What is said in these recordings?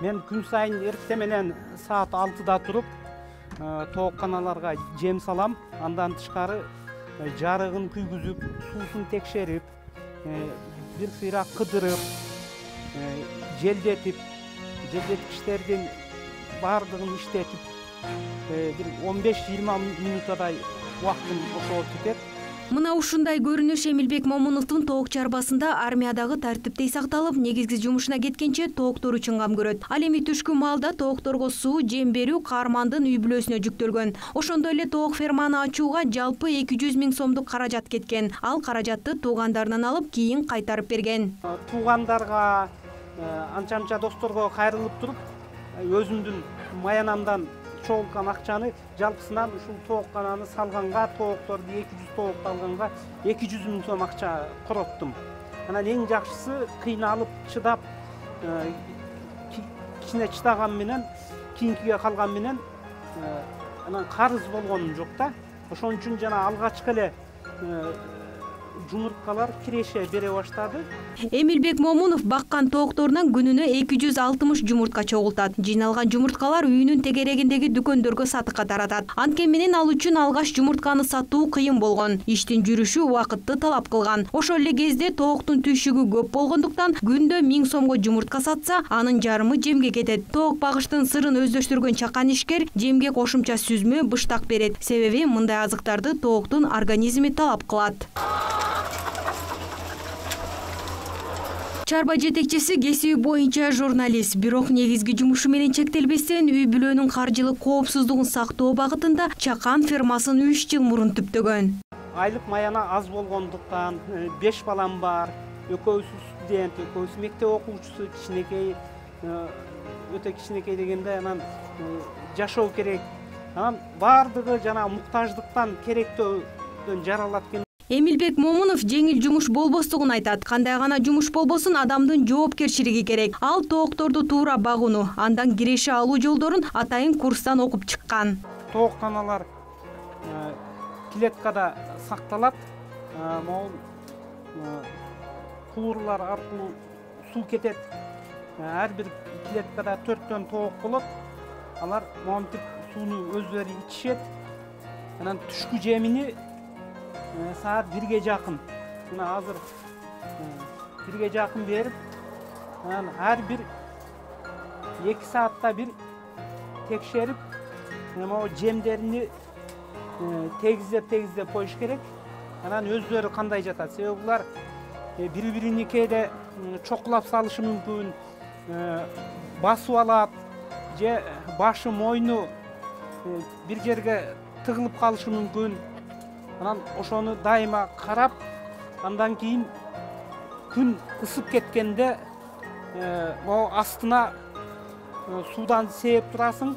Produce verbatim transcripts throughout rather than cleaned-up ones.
Мен күн сайын эртең менен саат алтыда туруп, тоокканаларга жем салам. Андан тышкары жарыгын күйгүзүп, суусун текшерип, бир сыйра кыдырып, желдетип, желдеткичтердин баардыгын иштетип, бир он беш жыйырма минутадай убактым ошого кетет. Мына ушундай көрүнүш Эмилбек Момуновдун тоок чарбасында армиядагы тартиптей сакталып, негизги жумушуна кеткенче тооктор үчүн кам көрөт. Ал эми түшкү маалда тоокторго суу, жем берүү каармандын үй бүлөсүнө жүктөлгөн. Ошондой эле тоок ферманы ачууга жалпы эки жүз миң сомдук каражат кеткен. Ал каражатты туугандарынан алып, кийин кайтарып берген. Туугандарга, анча-анча досторго кайрылып туруп, өзүмдүн маянамдан чогулткан акчаны жалпысынан ушул тооккананы салганга, тоокторду эки жүз тоокто алганга эки жүз миң сом акча короттум. Анан эң жакшысы кыйналып, чыдап, кичине чыдаган менен, кийинкиге калган менен анан карыз болгонум жок да. Ошон үчүн жана алгачкы эле жумурткалар киреше бере баштады. Эмилбек Момунов баккан тоокторунан күнүнө эки жүз алтымыш жумуртка чогултат. Жыйналган жумурткалар үйүнүн тегерегиндеги дүкөндөргө сатыкка таратат. Анткени менен ал үчүн алгаш жумуртканы сатуу кыйын болгон. Иштин жүрүшү убакытты талап кылган. Ошол эле кезде тооктун түйшүгү көп болгондуктан күндө миң сомго жумуртка сатса, анын жарымы жемге кетет. Тоок багыштын сырын өздөштүргөн чакан ишкер жемге кошумча сүзмө, быштак берет. Себеби мындай азыктарды тооктун организми талап кылат. Чарба жетекчиси кесиби боюнча журналист, бирок негизги жумушу менен чектелбестен үй бүлөнүн каржылык коопсуздугун сактоо багытында чакан фермасын үч жыл мурун түптөгөн. Айлык маяна аз болгондуктан, беш балам бар, экөөсү студент, экөөсү мектеп окуучусу, кичинекей, өтө кичинекей дегенде анан жашоо керек. Анан баардыгы жана муктаждыктан керектөөдөн жаралат экен. Эмилбек Момунов жеңил жумуш болбостугун айтат. Кандай гана жумуш болбосун, адамдын жоопкерчилиги керек. Ал тоокторду туура багууну, андан киреше алуу жолдорун атайын курстан окуп чыккан. Тоокканалар клеткада сакталат. Могул куурлар аркылуу суу кетет. Ар бир клеткада төрттөн тоок болот. Алар монтип сууну өздөрү ичишет. Анан түшкү жемини саат бирге жакын. Мына азыр бирге жакын берип, анан ар бир эки саатта бир текшерип, могу жемдерини тегиздеп-тегиздеп коюш керек. Анан өздөрү кандай жатат. Себеби булар бири-бирини кээде чокулап салышы мүмкүн, басып алат, же башы, мойну бир жерге тыгылып калышы мүмкүн. Анан ошону дайыма карап, андан кийин күн ысып кеткенде могу астына суудан сээп турасың.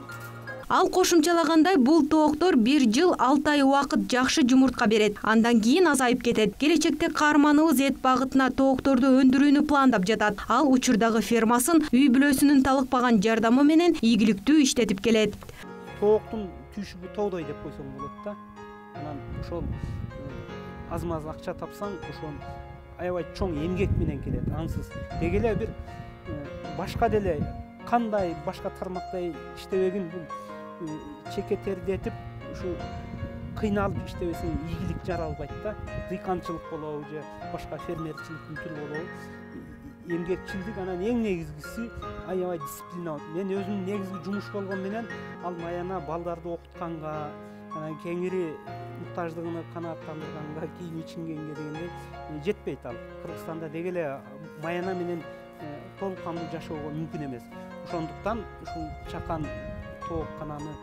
Ал кошумчалагандай, бул тооктор бир жыл алты ай убакыт жакшы жумуртка берет. Андан кийин азайып кетет. Келечекте каарманыбыз эт багытына тоокторду өндүрүүнү пландап жатат. Ал учурдагы фермасын үй бүлөсүнүн талыкпаган жардамы менен ийгиликтүү иштетип келет. Тооктун түйшүгү тоодой деп койсоң болот да. Анан ошол аз-маз акча тапсаң, ошол аябай чоң эмгек менен келет, ансыз. Деги эле бир башка деле кандай башка тармактай иштебегин бул чеке тердетип, ушу кыйналып иштебесең ийгилик жаралбайт да. Дыйканчылык болобу же башка фермерчиликтин түрү болобу, эмгекчилдик, анан эң негизгиси аябай дисциплина. Мен өзүм негизги жумуш болгон менен ал маяна балдарды окутканга, анан кеңири муктаждыгыны канааттандырганга, кийим ичингенге дегенде жетпейт ал. Кыргызстанда деги эле маяна менен толук кандуу жашоого мүмкүн эмес. Ошондуктан ушул чакан тооккананы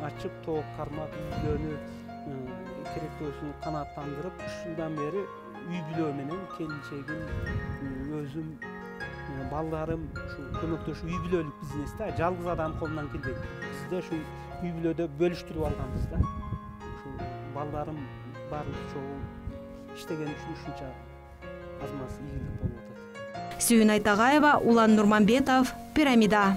ачып, тоок кармап, үй бүлөнү керектөөсүн канааттандырып, үч жылдан бери үй бүлө менен келинчегим, өзүм, балдарым ушу көмөктөшүп үй бүлөлүк бизнес да, жалгыз адам колунан келбейт. Бизде ушу үй бүлөдө бөлүштүрүп алганбыз да. Ушул балдарым баарыбыз чогуу иштеген үчүн ушунча аз-маз ийгилик болуп атат. Сүйүн Айтагаева, Улан Нурманбетов, Пирамида.